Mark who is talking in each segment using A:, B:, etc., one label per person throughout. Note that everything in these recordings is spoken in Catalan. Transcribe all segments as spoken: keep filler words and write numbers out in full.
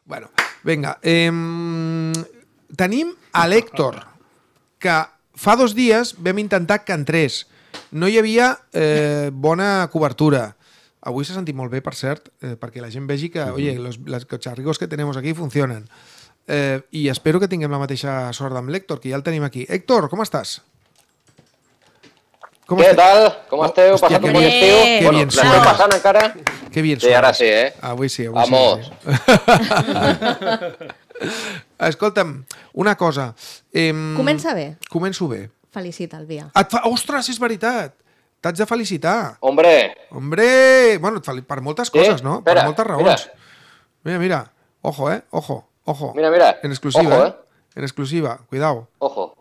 A: Bueno, vinga. Eh, tenim a l'Héctor, que fa dos dies vam intentar que entrés. No hi havia eh, bona cobertura. Avui s'ha sentit molt bé, per cert, eh, perquè la gent vegi que, oye, los, los cacharricos que tenemos aquí funcionen. Eh, I espero que tinguem la mateixa sort amb l'Héctor, que ja el tenim aquí. Héctor, com estàs?
B: Com Què tal? Com esteu? Oh, Passat un bon estiu?
A: Que
B: bueno,
A: bien
B: l'esteu passant encara?
A: Que bien
B: sí, ara sí, eh?
A: Avui sí, avui
B: Vamos.
A: sí. Escolta'm, una cosa. Eh,
C: Comença bé.
A: Començo bé.
C: Felicita el Via.
A: Et fa... Ostres, és veritat! T'haig de felicitar.
B: Hombre!
A: Hombre! Bueno, per moltes coses, sí? no?
B: Espera,
A: per moltes raons. Mira. mira, mira. Ojo, eh? Ojo, ojo.
B: Mira, mira.
A: En exclusiva,
B: ojo,
A: eh? En exclusiva. Cuidado.
B: Ojo.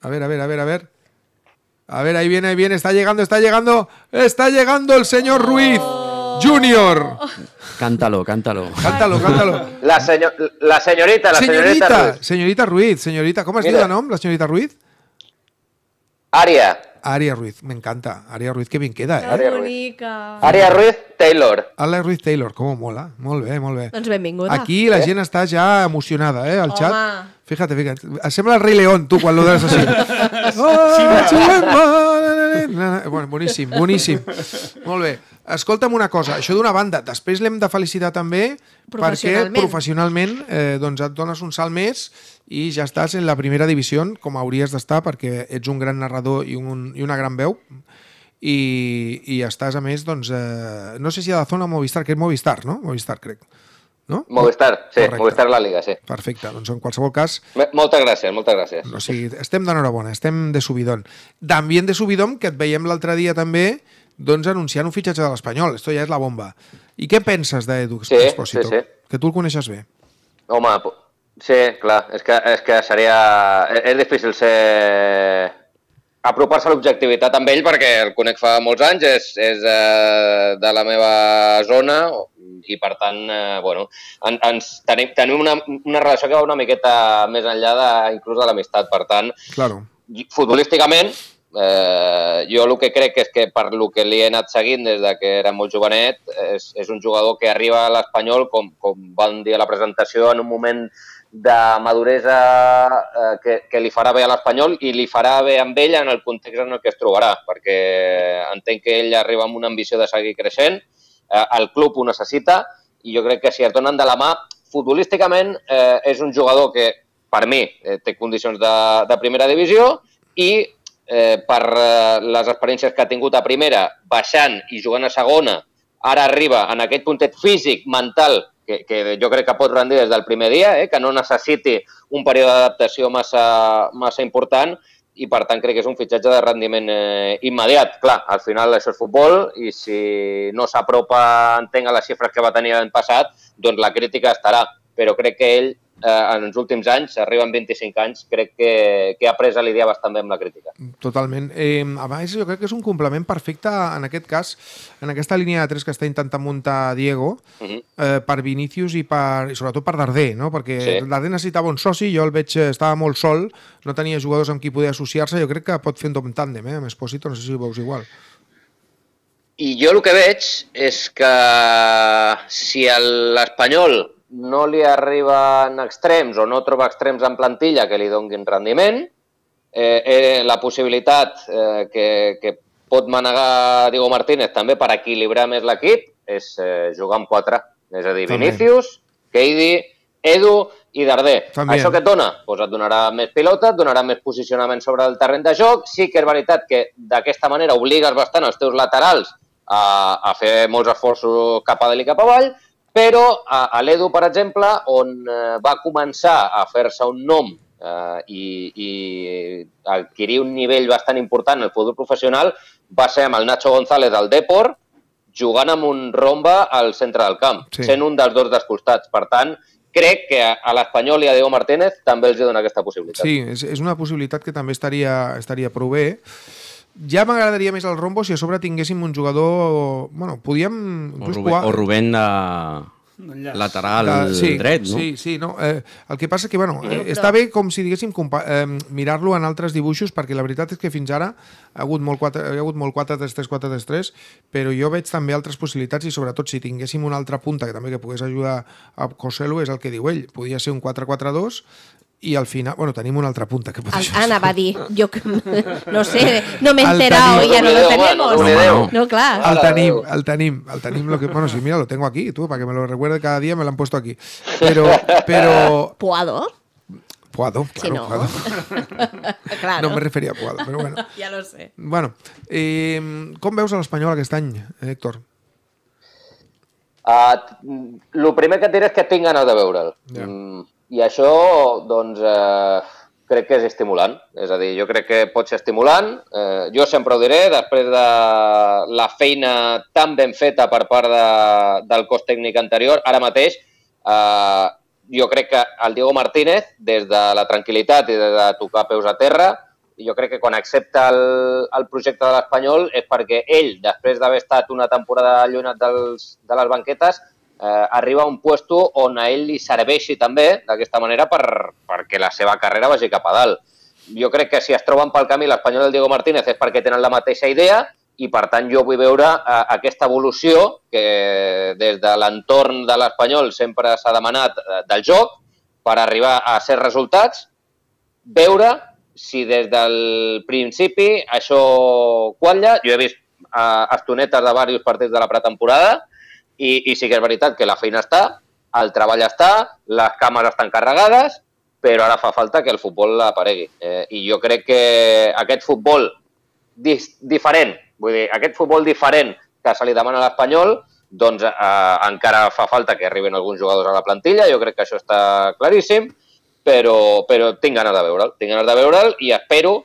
A: A ver, a ver, a ver, a ver. A ver, ahí viene, ahí viene. Está llegando, está llegando. Está llegando el señor Ruiz Junior.
D: Cántalo, cántalo.
A: Cántalo, cántalo.
B: La, señor, la señorita, la señorita,
A: señorita
B: Ruiz.
A: Señorita Ruiz, señorita. ¿Cómo es el nombre, la señorita Ruiz?
B: Aria.
A: Aria Ruiz, me encanta. Aria Ruiz, que bien queda, eh?
C: Aria Ruiz.
B: Aria Ruiz Taylor.
A: Aria Ruiz Taylor, com mola. Molt bé, molt bé.
C: Doncs benvinguda.
A: Aquí la gent està ja emocionada, eh, al
C: Home.
A: xat. Fíjate, fíjate. Sembla el Rei León, tu, quan lo des així. Bueno, boníssim, boníssim. Molt bé. Escolta'm una cosa, això d'una banda, després l'hem de felicitar també perquè professionalment eh, doncs et dones un salt més i ja estàs en la primera divisió, com hauries d'estar, perquè ets un gran narrador i, un, i una gran veu. I, i estàs, a més, doncs, eh, no sé si a la zona Movistar, que és Movistar, no? Movistar, crec. No?
B: Movistar, sí,
A: Correcte.
B: Movistar la Liga, sí.
A: Perfecte, doncs en qualsevol cas...
B: Moltes gràcies, moltes gràcies.
A: O sigui, estem d'enhorabona, estem de subidón. També de subidón, que et veiem l'altre dia també, doncs anunciant un fitxatge de l'Espanyol. Esto ja és la bomba. I què penses d'Edu Expósito?
B: Sí, sí, sí.
A: Que tu el coneixes bé.
B: Home, sí, clar, és que, és que seria... És difícil ser... apropar-se a l'objectivitat amb ell perquè el conec fa molts anys, és, és eh, de la meva zona i per tant, eh, bueno, en, ens tenim, tenim una, una relació que va una miqueta més enllà de, inclús de l'amistat. Per tant,
A: claro.
B: Futbolísticament, eh, jo el que crec és que per lo que li he anat seguint des de que era molt jovenet, és, és un jugador que arriba a l'Espanyol, com, com van dir a la presentació, en un moment de maduresa eh, que, que li farà bé a l'Espanyol i li farà bé amb ell en el context en el que es trobarà, perquè entenc que ell arriba amb una ambició de seguir creixent, eh, el club ho necessita i jo crec que si es donen de la mà, futbolísticament eh, és un jugador que per mi eh, té condicions de, de primera divisió i eh, per eh, les experiències que ha tingut a primera, baixant i jugant a segona, ara arriba en aquest puntet físic, mental, Que, que jo crec que pot rendir des del primer dia, eh? Que no necessiti un període d'adaptació massa, massa important i, per tant, crec que és un fitxatge de rendiment eh, immediat. Clar, al final això és futbol i si no s'apropa, entenc, a les xifres que va tenir l'any passat, doncs la crítica estarà. Però crec que ell, eh, en els últims anys, arriben vint-i-cinc anys, crec que, que ha pres a lidiar bastant bé amb la crítica.
A: Totalment. Eh, a més, jo crec que és un complement perfecte, en aquest cas, en aquesta línia de tres que està intentant muntar Diego, uh-huh. eh, per Vinícius i, per, i sobretot per Darder, no? Perquè sí. Darder necessitava un soci, jo el veig, estava molt sol, no tenia jugadors amb qui poder associar-se, jo crec que pot fer un tàndem, eh? Amb Expósito, no sé si ho veus igual.
B: I jo el que veig és que si l'Espanyol no li arriben extrems o no troba extrems en plantilla que li donguin rendiment, eh, eh, la possibilitat eh, que, que pot manegar Diego Martínez també per equilibrar més l'equip és eh, jugar amb quatre. És a dir, també. Vinícius, Keidi, Edu i Darder. També. Això que et dona? Pues et donarà més pilota, et donarà més posicionament sobre el terreny de joc. Sí que és veritat que d'aquesta manera obligues bastant els teus laterals a, a fer molts esforços cap a dalt i cap avall, però a, a l'Edu, per exemple, on eh, va començar a fer-se un nom eh, i, i adquirir un nivell bastant important en el futbol professional, va ser amb el Nacho González del Depor, jugant amb un romba al centre del camp, sí. Sent un dels dos dels costats. Per tant, crec que a l'Espanyol i a Diego Martínez també els dona aquesta possibilitat.
A: Sí, és, és una possibilitat que també estaria, estaria prou bé. Ja m'agradaria més el rombo si a sobre tinguéssim un jugador... Bueno, podíem...
D: O Rubén, o Rubén de... lateral
A: de, sí,
D: dret, no?
A: Sí, sí, no. Eh, el que passa que, bueno, eh, està bé com si diguéssim eh, mirar-lo en altres dibuixos, perquè la veritat és que fins ara ha hagut molt quatre, hi ha hagut molt quatre tres tres quatre tres tres, però jo veig també altres possibilitats i sobretot si tinguéssim una altra punta que també que pogués ajudar a Joselu, és el que diu ell, podia ser un quatre quatre dos i al final, bueno, tenim una altra punta que pot
C: el, Anna va dir, jo no sé, no m'he enterado y ya no lo tenemos.
D: No, no,
C: no clar.
A: El tenim, el tenim, el tenim, lo que, bueno, sí, mira, lo tengo aquí, tú, para que me lo recuerde cada día, me lo han puesto aquí. Pero, pero...
C: ¿Puado?
A: Puado, claro,
C: si no.
A: Puado.
C: Claro.
A: No me referia a Puado, però bueno.
C: Ja lo sé.
A: Bueno, eh, com veus a l'Espanyol aquest any, Héctor?
B: Uh, el primer que et diré és que tinc ganes de veure'l.
A: Ja.
B: Mm, I això, doncs, eh, crec que és estimulant. És a dir, jo crec que pot ser estimulant. Eh, jo sempre ho diré, després de la feina tan ben feta per part de, del cos tècnic anterior, ara mateix, eh, jo crec que el Diego Martínez, des de la tranquil·litat i des de tocar peus a terra, jo crec que quan accepta el, el projecte de l'Espanyol és perquè ell, després d'haver estat una temporada allunyat dels, de les banquetes, eh, arriba a un puesto on a ell li serveixi també, d'aquesta manera, per, perquè la seva carrera vagi cap a dalt. Jo crec que si es troben pel camí l'Espanyol i el Diego Martínez és perquè tenen la mateixa idea i, per tant, jo vull veure eh, aquesta evolució que des de l'entorn de l'Espanyol sempre s'ha demanat eh, del joc per arribar a certs resultats, veure si des del principi això qualla. Jo he vist eh, estonetes de diversos partits de la pretemporada i, i sí que és veritat que la feina està, el treball està, les cames estan carregades, però ara fa falta que el futbol aparegui. Eh, I jo crec que aquest futbol dis, diferent, vull dir, aquest futbol diferent que se li demana a l'Espanyol, doncs eh, encara fa falta que arriben alguns jugadors a la plantilla, jo crec que això està claríssim, però, però tinc ganes de veure'l, tinc ganes de veure'l i espero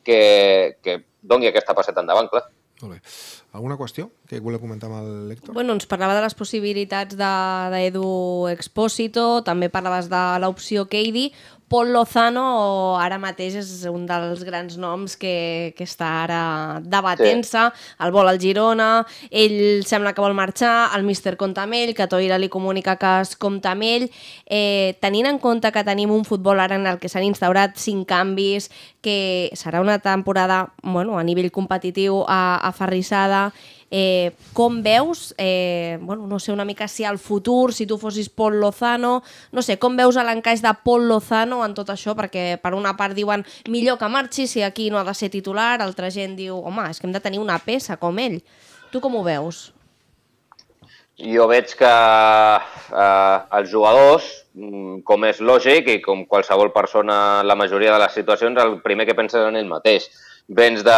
B: que, que doni aquesta passeta endavant, clar.
A: Molt bé. Alguna qüestió que voleu comentar amb l'Héctor?
C: Bueno, ens parlava de les possibilitats d'Edu Expósito, també parlaves de l'opció Keidi. Pol Lozano ara mateix és un dels grans noms que, que està ara debatent-se, sí. El vol al Girona, ell sembla que vol marxar, el míster compta amb ell, que Toira li comunica que es compta amb ell. Eh, tenint en compte que tenim un futbol ara en el que s'han instaurat cinc canvis, que serà una temporada bueno, a nivell competitiu aferrissada, Eh, com veus, eh, bueno, no sé una mica si al futur, si tu fossis Pol Lozano, no sé, com veus l'encaix de Pol Lozano en tot això, perquè per una part diuen millor que marxi si aquí no ha de ser titular, altra gent diu, home, és que hem de tenir una peça com ell. Tu com ho veus?
B: Jo veig que eh, els jugadors, com és lògic i com qualsevol persona en la majoria de les situacions, el primer que pensa és en ell mateix. Vens de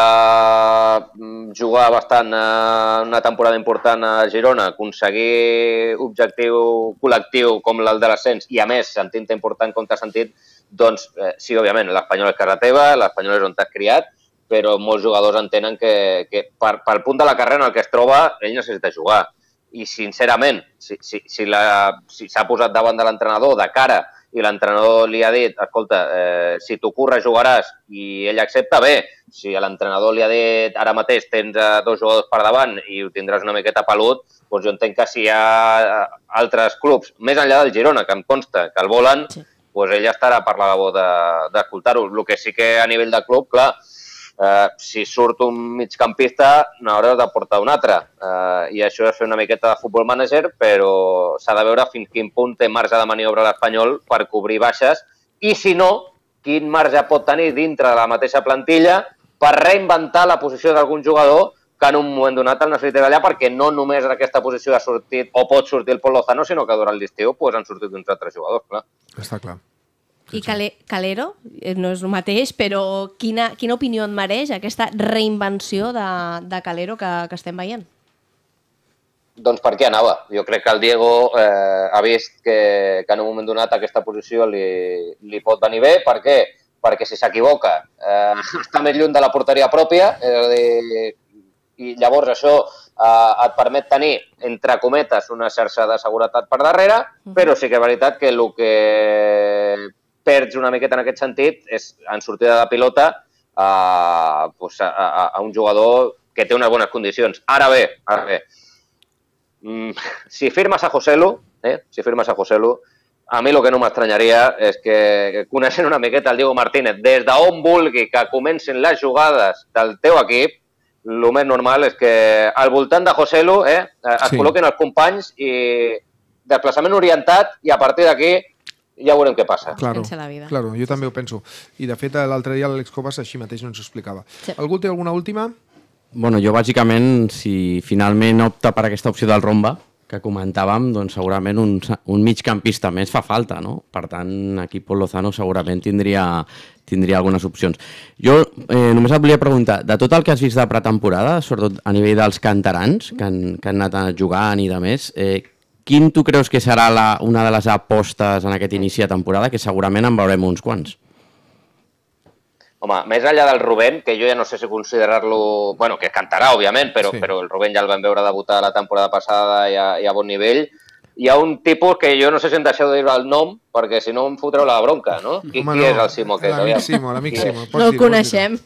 B: jugar bastant una temporada important a Girona, aconseguir objectiu col·lectiu com el de l'ascens i, a més, sentint-te important com t'has sentit, doncs eh, sí, òbviament, l'Espanyol és casa teva, l'Espanyol és on t'has criat, però molts jugadors entenen que, que per, pel punt de la carrera en el que es troba, ell necessita jugar. I, sincerament, si s'ha si, si si posat davant de l'entrenador de cara i l'entrenador li ha dit, escolta, eh, si t'ocorre jugaràs i ell accepta, bé. Si l'entrenador li ha dit ara mateix tens eh, dos jugadors per davant i ho tindràs una miqueta pelut, doncs jo entenc que si hi ha altres clubs, més enllà del Girona, que em consta que el volen, sí. Doncs ell estarà per la labor d'escoltar-ho. El que sí que a nivell de club, clar, eh, si surt un migcampista n'hauràs de portar un altre. Eh, I això és fer una miqueta de futbol manager, però s'ha de veure fins quin punt té marge de maniobra l'Espanyol per cobrir baixes i, si no, quin marge pot tenir dintre de la mateixa plantilla per reinventar la posició d'algun jugador que en un moment donat el necessita allà, perquè no només en aquesta posició ha sortit o pot sortir el Pol Lozano, sinó que durant l'estiu pues, han sortit uns altres jugadors, clar.
A: Està clar.
C: I Cale Calero, no és el mateix, però quina, quina opinió et mereix aquesta reinvenció de, de Calero que, que estem veient?
B: Doncs per què anava? Jo crec que el Diego eh, ha vist que, que en un moment donat aquesta posició li, li pot venir bé. Per què? Perquè si s'equivoca eh, està més lluny de la porteria pròpia, és a dir, i llavors això eh, et permet tenir, entre cometes, una xarxa de seguretat per darrere, però sí que és veritat que el que perds una miqueta en aquest sentit és en sortida de pilota eh, pues a, a, a un jugador que té unes bones condicions. Ara bé, ara bé, mm, si firmes a Joselu, eh, si firmes a Joselu, a mi el que no m'estranyaria és que, coneixent una miqueta el Diego Martínez, des d'on vulgui que comencin les jugades del teu equip, el més normal és que al voltant de Joselu eh, es sí. col·loquin els companys i desplaçament orientat i a partir d'aquí ja veurem què passa.
A: Claro, claro, jo també ho penso. I de fet l'altre dia l'Àlex Cobas així mateix no ens ho explicava. Sí. Algú té alguna última?
D: Bueno, jo bàsicament, si finalment opta per aquesta opció del Romba, que comentàvem, doncs segurament un, un migcampista més fa falta, no? Per tant, aquí Pol Lozano segurament tindria, tindria algunes opcions. Jo eh, només et volia preguntar, de tot el que has vist de pretemporada, sobretot a nivell dels canterans que han, que han anat jugant i de més, eh, quin tu creus que serà la, una de les apostes en aquest inici de temporada, que segurament en veurem uns quants?
B: Home, més enllà del Rubén, que jo ja no sé si considerar-lo... Bueno, que cantarà, òbviament, però, sí. però el Rubén ja el vam veure debutar la temporada passada i a, i a bon nivell. Hi ha un tipus que jo no sé si em deixeu de dir el nom, perquè si no em fotreu la bronca, no? Qui,
A: Home,
B: qui
A: no.
B: és el Simo?
A: L'amic Simo, l'amic Simo.
C: No el coneixem.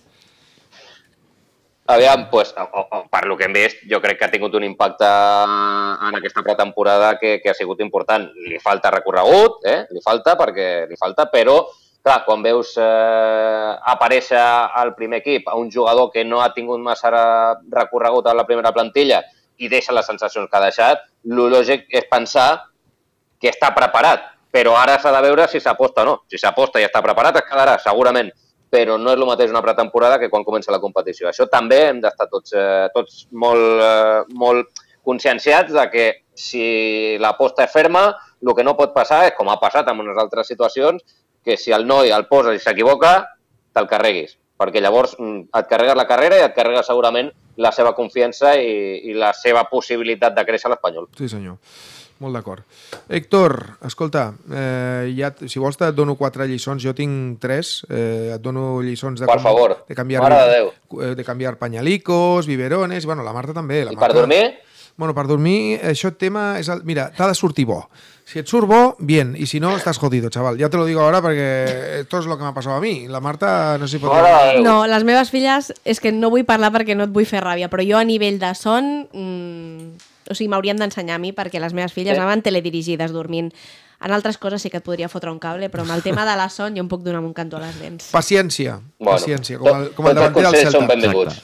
B: Aviam, pues, o, o, per lo que hem vist, jo crec que ha tingut un impacte en aquesta pretemporada que, que ha sigut important. Li falta recorregut, eh? Li falta, perquè li falta, però... Clar, quan veus eh, aparèixer al primer equip a un jugador que no ha tingut massa recorregut a la primera plantilla i deixa les sensacions que ha deixat, el lògic és pensar que està preparat, però ara s'ha de veure si s'aposta o no. Si s'aposta i està preparat, es quedarà, segurament, però no és el mateix una pretemporada que quan comença la competició. Això també hem d'estar tots, eh, tots molt, eh, molt conscienciats de que si l'aposta és ferma, el que no pot passar és, com ha passat en unes altres situacions, que si el noi el posa i s'equivoca, te'l carreguis. Perquè llavors et carregues la carrera i et carregues segurament la seva confiança i, i la seva possibilitat de créixer a l'Espanyol.
A: Sí, senyor. Molt d'acord. Héctor, escolta, eh, ja, si vols et dono quatre lliçons, jo tinc tres, eh, et dono lliçons de,
B: per com, favor,
A: de canviar,
B: mare de Déu.
A: De canviar pañalicos, biberones, bueno, la Marta també. La
B: I
A: Marta...
B: per dormir?
A: Bueno, per dormir, això tema és... El... Mira, t'ha de sortir bo. Si et surt bo, bien. Y si no, estás jodido, chaval. Ya te lo digo ahora porque esto es lo que m'ha passat a mi. La Marta no s'hi pot...
C: No, les meves filles, és que no vull parlar perquè no et vull fer ràbia, però jo a nivell de son... Mmm, o sigui, m'haurien d'ensenyar a mi perquè les meves filles sí. anaven teledirigides dormint. En altres coses sí que et podria fotre un cable, però amb el tema de la son jo em puc donar un cantó a les dents.
A: Paciència,
B: bueno,
A: paciència, com el, com el davanter del Celta.
B: Són benvinguts.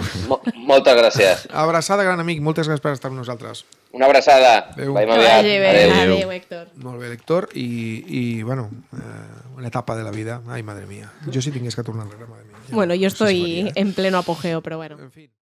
B: Moltes gràcies.
A: Abraçada, gran amic, moltes gràcies per estar amb nosaltres.
B: Una abraçada.
A: Adéu.
B: Veiem aviat.
C: Adéu. Adéu, Héctor.
A: Molt bé, Héctor, i, i bueno, eh, una etapa de la vida. Ai, madre mía. Jo si tingués que tornar enrere, madre mía.
C: Bueno, yo estoy en pleno apogeo, pero bueno.
A: En fin.